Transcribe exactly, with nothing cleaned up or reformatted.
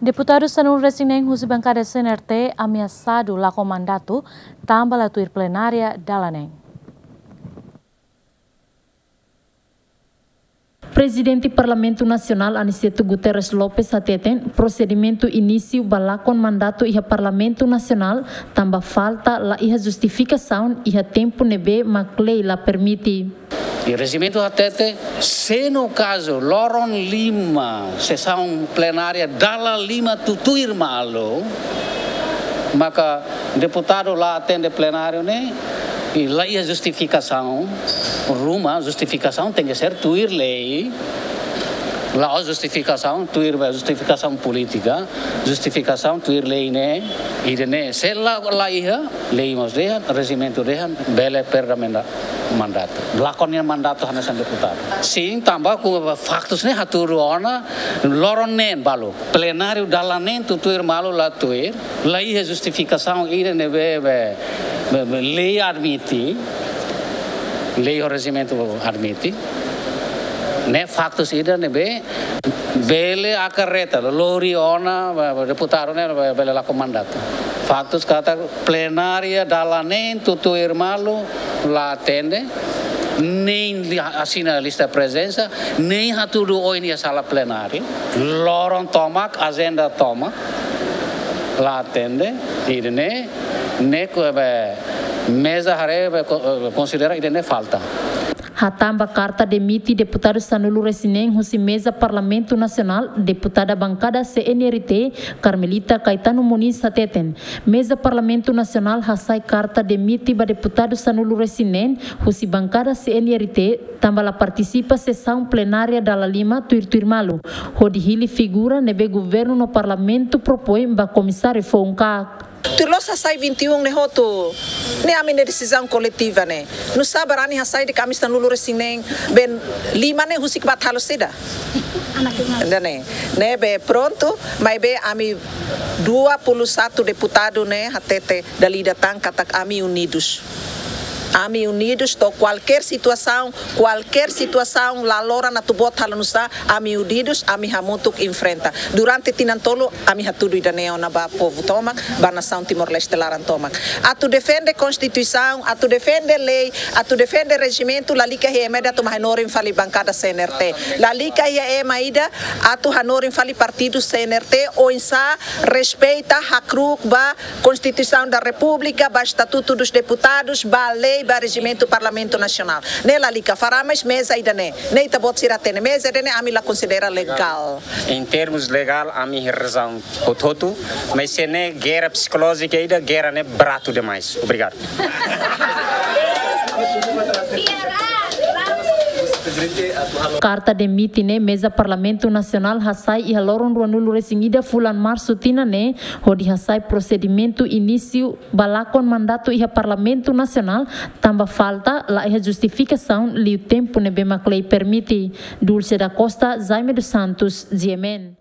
Deputadu sanulu-resin-neen husi bankada C N R T ameasadu lakon mandatu tanba la tuir plenária dala neen. Prezidente Parlamentu Nasionál Aniceto Guterres Lopes hateten prosedimentu inísiu ba lakon mandatu iha Parlamentu Nasionál tanba falta la iha justifikasaun iha tempu ne'ebé mak lei la permite. I rejimentu hatete, se no kazu loron lima sesaun plenária dala lima tutuir malu, maka deputadu la atende plenáriu ne'e, i la iha justifikasaun, ruma justifikasaun tenke ser tuir lei, la'ós justifikasaun tuir ba justifikasaun polítika, justifikasaun tuir lei ne'e, ida-ne'e, se la, la iha, lei mós dehan, rejimentu dehan, bele perda menda-, mandatu. Lakon nia mandatu hanesan deputadu. Sin, tanba ku faktus ne'e hatudu ona, loron neen balu. Plenáriu dala neen tutuir malu la tuir, la iha justifikasaun ida ne'ebé, be, be, be, lei admite, lei ho rejimentu admite. Ne'e faktus ida ne'ebé bele akareta, lori ona, be, be, deputadu ne'e, be, bele lakon mandatu. Faktus katak plenária dala neen tutuir malu la atende, nein li-, asina lista prezensa, nein hatudu oin iha sala plenária. Loron tomak, ajenda tomak, la atende, ida-ne'e, ne'e ku be meza haree be ko-, konsidera ida-ne'e falta. Hatán ba karta demite deputadu sanulu-resin-neen husi meza Parlamentu Nasionál, deputada bankada C N R T, Carmelita Caetano Moniz hateten, meza Parlamentu Nasionál hasai karta demite ba deputadu sanulu-resin-neen husi bankada C N R T tanba la partisipa sesaun plenária dala lima tuir-tuir malu, hodi hili figura ne'ebé governu no parlamentu propoin ba komisáriu foun-kaak. Tuir loos hasai vinte e um ne'e hotu. Ne'e ami-nia desizaun koletiva ne'e. Nusá barani hasai de'it ami sanulu-resin-neen, be lima ne'e husik ba halo saida? Ida-ne'e. Ne'ebé prontu, maibé ami dua puluh satu deputadu ne'e hatete dala ida tan katak ami unidus. Ami unidus to'o kualkér situasaun, kualkér situasaun la loron atu boot halo nusá, ami unidus, ami hamutuk enfrenta. Durante tinan tolu, ami hatudu ida-ne'e ona ba povu tomak, ba nasaun Timor-Leste laran tomak. Atu defende konstituisaun, atu defende lei, atu defende rejimentu, lalika iha ema ida atu mai hanorin fali bankada C N R T. Lalika iha ema ida atu hanorin fali partidu C N R T, oinsá respeita hakruuk ba Constituição da República, ba Estatuto dos Deputados, ba lei, ba rejimentu Parlamentu Nasionál. Ne'e lalika, fará mais meza ida-ne'e. Ne'e ita-boot sira hatene meza ida-ne'e ami la konsidera legál. Em termos legál, ami iha razaun hotu-hotu, mas se ne'e guerra psicológica ida, guerra ne'e baratu demais. Obrigadu. Karta demite ne'e meza Parlamentu Nasionál hasai iha loron ruanulu-resin-ida fulan Marsu tinan ne'e, hodi hasai prosedimentu inísiu ba lakon mandatu iha Parlamentu Nasionál, tanba falta la iha justifikasaun liu tempu ne'ebé mak lei permite. Dulce da Costa, Jaime dos Santos, G M N.